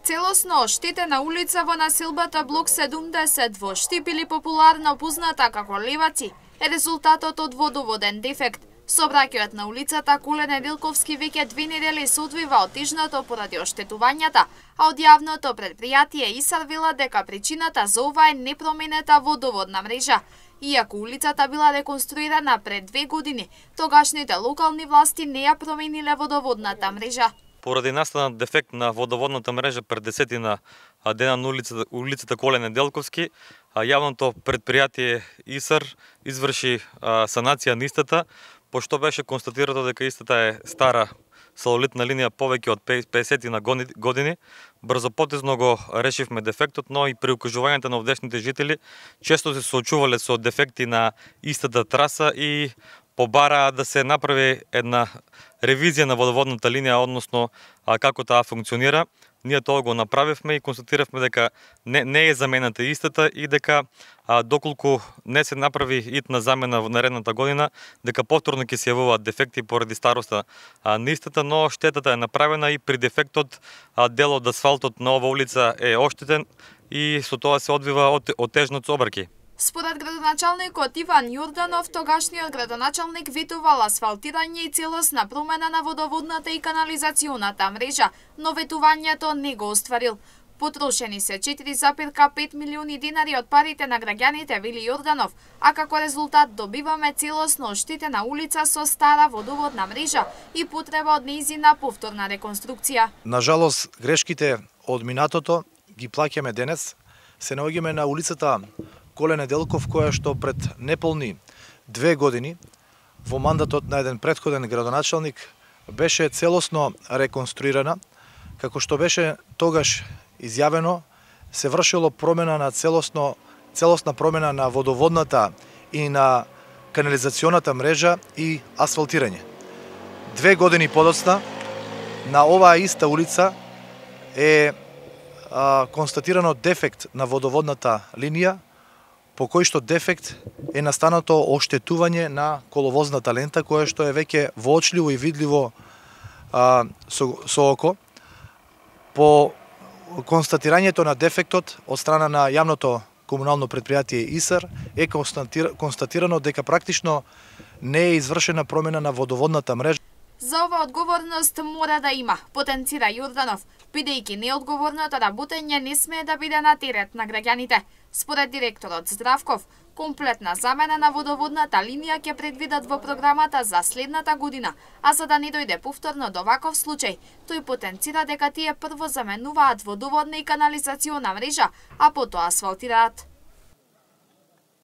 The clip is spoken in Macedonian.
Целосно оштетена улица во населбата блок 70 во Штип или популарно позната како Леваци е резултатот од водоводен дефект. Сообраќајот на улицата Коле Неделковски веќе 2 недели се одвива отежнато поради оштетувањата, а од јавното предпријатие ИСАР вела дека причината за ова е непроменета водоводна мрежа. Иако улицата била реконструирана пред 2 години, тогашните локални власти не ја промениле водоводната мрежа. Поради настанат дефект на водоводната мрежа пред 10 дена на улицата Коле Неделковски, јавното предпријатие ИСАР изврши санација на истата, пошто беше констатирано дека истата е стара салолитна линија повеќе од 50 години. Брзопотезно го решивме дефектот, но и при укажувањето на овдешните жители често се соочувале со дефекти на истата траса и побараа да се направи една ревизија на водоводната линија, односно како таа функционира. Ние тоа го направивме и констатиравме дека не е замената истата и дека доколку не се направи итна замена во наредната година, дека повторно ќе се јавуваат дефекти поради староста на истата, но штетата е направена и при дефектот дел од асфалтот на ова улица е оштетен и со тоа се одвива отежнот сообраќај. Според градоначалникот Иван Јорданов, тогашниот градоначалник ветувал асфалтирање и целосна промена на водоводната и канализационата мрежа, но ветувањето не го остварил. Потрошени се 4,5 милиони динари од парите на граѓаните, вели Јорданов, а како резултат добиваме целосно оштетена улица со стара водоводна мрежа и потреба од нејзина повторна реконструкција. Нажалост, грешките од минатото ги плаќаме денес. Се наоѓаме на улицата Коле Неделков, која што пред неполни 2 години во мандатот на еден претходен градоначалник беше целосно реконструирана, како што беше тогаш изјавено, се вршило промена на целосна промена на водоводната и на канализационата мрежа и асфалтирање. 2 години подоцна на оваа иста улица е констатирано дефект на водоводната линија, по кој што дефект е настанато оштетување на коловозната лента, која што е веќе воочливо и видливо со око. По констатирањето на дефектот од страна на јавното комунално предпријатие ИСАР е констатирано дека практично не е извршена промена на водоводната мрежа. За ова одговорност мора да има, потенцира Јорданов, бидејќи неодговорното работење не смее да биде на терет на граѓаните. Според директорот Здравков, комплетна замена на водоводната линија ќе предвидат во програмата за следната година, а за да не дојде повторно до ваков случај, тој потенцира дека тие прво заменуваат водоводна и канализациона мрежа, а потоа асфалтираат.